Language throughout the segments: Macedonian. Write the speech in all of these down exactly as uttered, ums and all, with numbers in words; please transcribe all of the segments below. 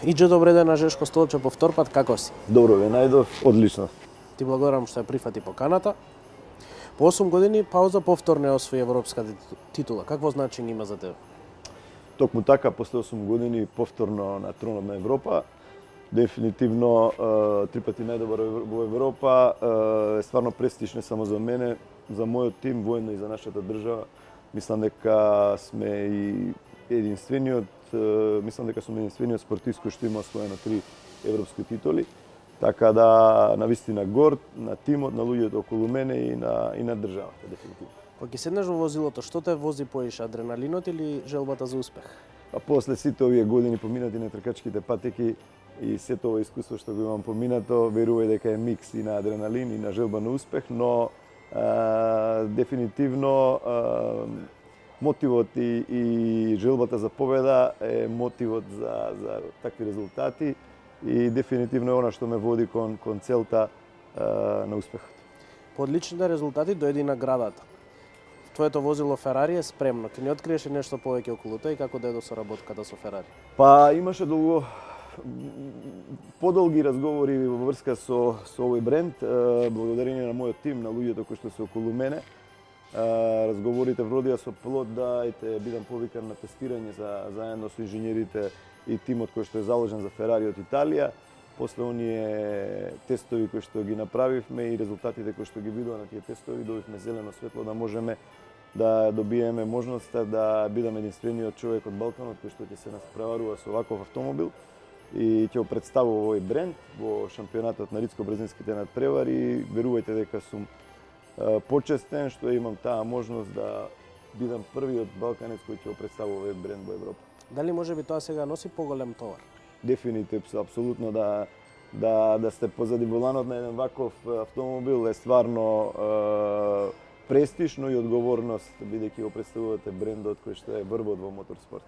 Иđe добре ден на Жешко Столче по втор пат, како си? Добро ве најдов, одлично. Ти благодарам што ја прифати поканата. По осум години пауза повторно освои европска титула. Какво значење има за тебе? Токму така, после осум години повторно на тронот на Европа. Дефинитивно три пати најдобар во Европа е стварно престиж не само за мене, за мојот тим, воедно и за нашата држава. Мислам дека сме и единствениот, мислам дека сме единствениот спортист кој што има освоено три европски титули. Така да, навистина горд на тимот, на луѓето околу мене и на и на државата дефинитивно. Кога ќе седнеш во возилото, што те вози поише, адреналинот или желбата за успех? А после сите овие години поминати на тркачките патеки и сето ова искуство што го имам поминато, верувај дека е микс и на адреналин и на желба на успех, но а, дефинитивно а, мотивот и, и желбата за победа е мотивот за, за такви резултати и дефинитивно е она што ме води кон, кон целта а, на успехот. По одличните резултати дојде наградата. Твоето возило Ферари е спремно. Ке ни откриеш нешто повеќе околу тоа и како дојде соработката со Ферари? Па имаше долго подолги разговори во врска со со овој бренд, благодарение на мојот тим, на луѓето кои што се околу мене. Разговорите вродија со плод да ете бидам повикан на тестирање за заедно со инженерите и тимот кој што е заложен за Ферари од Италија. После оние тестови кои што ги направивме и резултатите кои што ги видоа на тие тестови, добивме зелено светло да можеме да добиеме можноста да бидам единствениот човек од Балканот кој што ќе се наспреварува со ваков автомобил и ќе го представува овој бренд во шампионатот на ридско-брзинските надпревари. Верувајте дека сум почестен што имам таа можност да бидам првиот балканец кој ќе го представува овој бренд во Европа. Дали можеби тоа сега носи поголем товар? Дефинитивно, апсолутно да да да сте позади воланот на еден ваков автомобил е стварно е, престижно и одговорност бидејќи го представувате брендот кој што е врвот во моторспорт.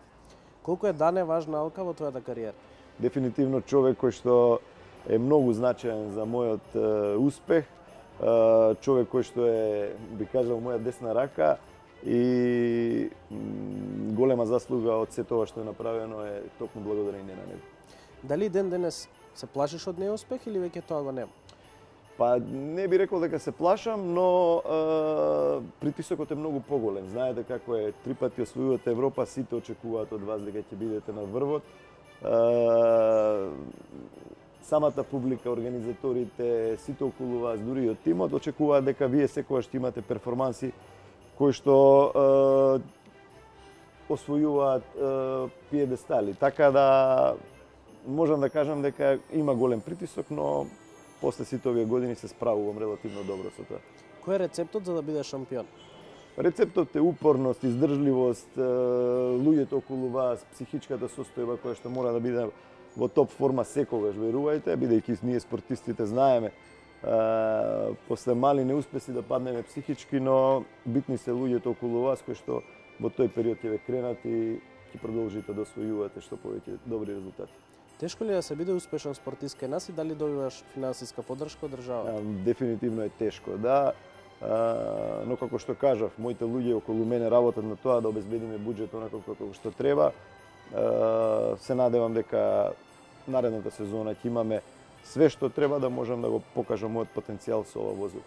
Колку е Дане важна Алка во твојата кариера? Дефинитивно човек кој што е многу значаен за мојот е, успех, е, човек кој што е, би кажал, моја десна рака и м, голема заслуга од сето ова што е направено е токму благодарение на него. Дали ден денес се плашиш од неуспех или веќе тоа го нема? Па не би рекол дека се плашам, но е, притисокот е многу поголем. Знаете како е, три пати освојувате Европа, сите очекуваат од вас дека ќе бидете на врвот. Е, самата публика, организаторите, сите околу вас, дури и од тимот, очекуваат дека вие секогаш ќе имате перформанси кои што е, освојуваат е, пиедестали. Така да можам да кажам дека има голем притисок, но после сите овие години се справувам релативно добро со тоа. Кој е рецептот за да бидеш шампион? Рецептот е упорност, издржливост, луѓето околу вас, психичката состојба која што мора да биде во топ форма секогаш, верувајте, бидејќи ние спортистите знаеме после мали неуспеси да паднеме психички, но битни се луѓето околу вас кои што во тој период ќе ве кренат и ќе продолжите да освојувате што повеќе добри резултати. Тешко ли да се биде успешен спортист кај нас и дали добиваш финансиска поддршка од држава? Дефинитивно е тешко, да. Но како што кажав, моите луѓе околу мене работат на тоа да обезбедиме буџет онако како што треба. Се надевам дека наредната сезона ќе имаме све што треба да можам да го покажам мојот потенцијал со ова возило.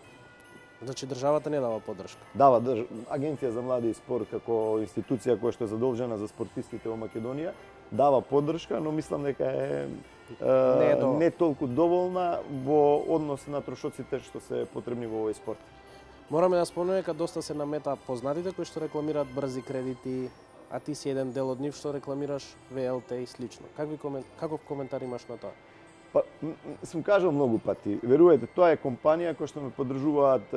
Значи државата не дава поддршка? Дава држ... Агенција за млади и спорт како институција која што е задолжена за спортистите во Македонија дава поддршка, но мислам дека е, е не, е не толку доволна во однос на трошоците што се потребни во овој спорт. Мораме да спомнеме дека доста се намета познатите кои што рекламираат брзи кредити, а ти си еден дел од нив што рекламираш ве ел те и слично. Какви комен... Каков коментар имаш на тоа? Па, сум кажал многу пати, верувајте, тоа е компанија која што ме поддржуваат,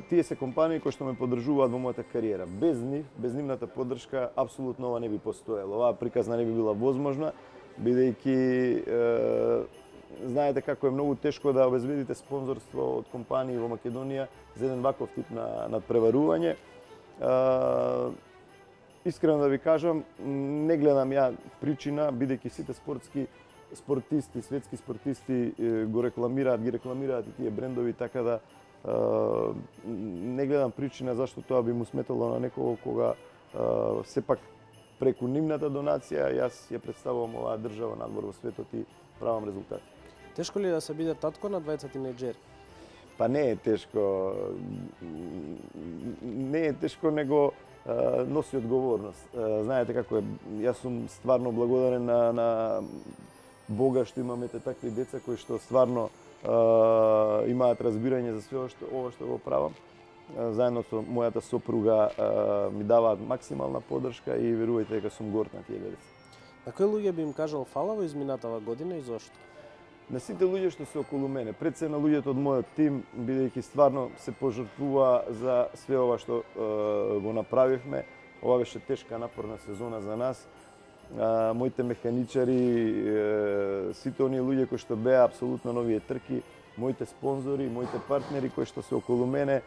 тие се компании кои што ме поддржуваат во мојата кариера. Без нив, без нивната поддршка, апсолутно ова не би постоело. Оваа приказна не би била возможна, бидејќи е, знаете како е многу тешко да обезбедите спонзорство од компании во Македонија за еден ваков тип на надпреварување. Искрено да ви кажам, не гледам ја причина, бидејќи сите спортски спортисти, светски спортисти го рекламираат, ги рекламираат и тие брендови, така да е, не гледам причина зашто тоа би му сметало на некого кога е, сепак преку нивната донација јас ја представувам оваа држава надвор во светот и правам резултати. Тешко ли е да се биде татко на двајца тинејџери? Па не е тешко. Не е тешко, него а, носи одговорност. А, знаете како е, јас сум стварно благодарен на, на Бога што имаме такви деца кои што стварно а, имаат разбирање за све што ова што го правам. А, заедно со мојата сопруга а, ми даваат максимална поддршка и верувајте дека сум горд на тие деца. На кои луѓе би им кажал фала во изминатава година и зошто? На сите луѓе што се околу мене, пред се на луѓето од мојот тим, бидејќи стварно се пожртвува за све ова што е, го направивме. Ова беше тешка напорна сезона за нас. А, моите механичари, е, сите оние луѓе кои што беа апсолутно нови трки, моите спонзори, моите партнери кои што се околу мене,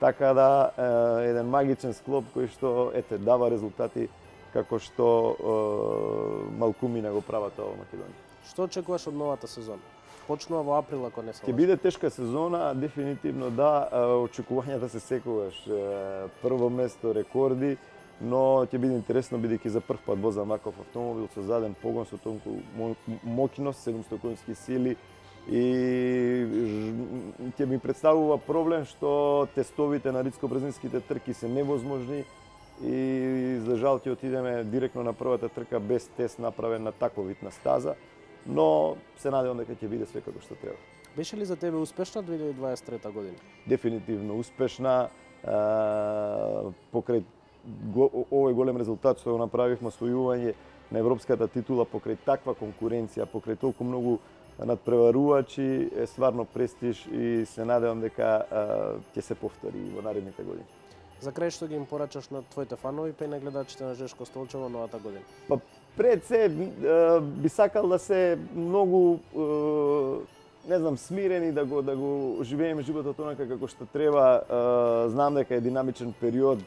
така да е, еден магичен склоп кој што ете дава резултати како што е, малкумина го прават ова Македонија. Што очекуваш од новата сезона? Почнува во април, ако не се Ќе биде тешка сезона, дефинитивно да, очекувањата се секогаш прво место, рекорди, но ќе биде интересно бидејќи за прв пат возам ваков автомобил со заден погон со толку моќност, седумстотини конски сили и ќе ми представува проблем што тестовите на ридско-брзинските трки се невозможни и за жал ќе отидеме директно на првата трка без тест направен на таков вид на стаза. Но се надевам дека ќе биде све како што треба. Беше ли за тебе успешна две илјади дваесет и трета година? Дефинитивно успешна. Е, покрај го, овој голем резултат што го направивме, освојување на европската титула покрај таква конкуренција, покрај толку многу надпреварувачи, е стварно престиж и се надевам дека ќе се повтори во наредните години. За крај што ги им порачаш на твоите фанови па и на гледачите на Жешко Столчево новата година? Па пред се би сакал да се многу не знам смирени да го да го живееме животот онака како што треба. Знам дека е динамичен период,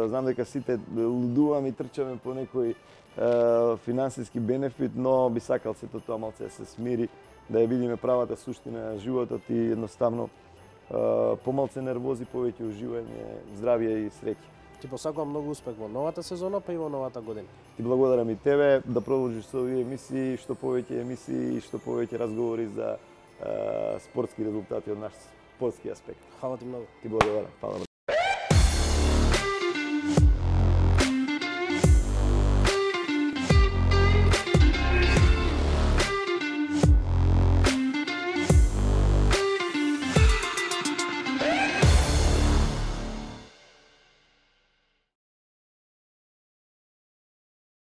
знам дека сите лудуваме и трчаме по некој финансиски бенефит, но би сакал сето тоа малце да се смири, да ја видиме правата суштина на животот и едноставно помалце нервози, повеќе уживање, здравје и среќа. Ти посакувам многу успех во новата сезона, па и во новата година. Ти благодарам и тебе да продолжиш со овие емисии, што повеќе емисии и што повеќе разговори за е, спортски резултати од наш спортски аспект. Фала ти многу. Ти благодарам. Фала.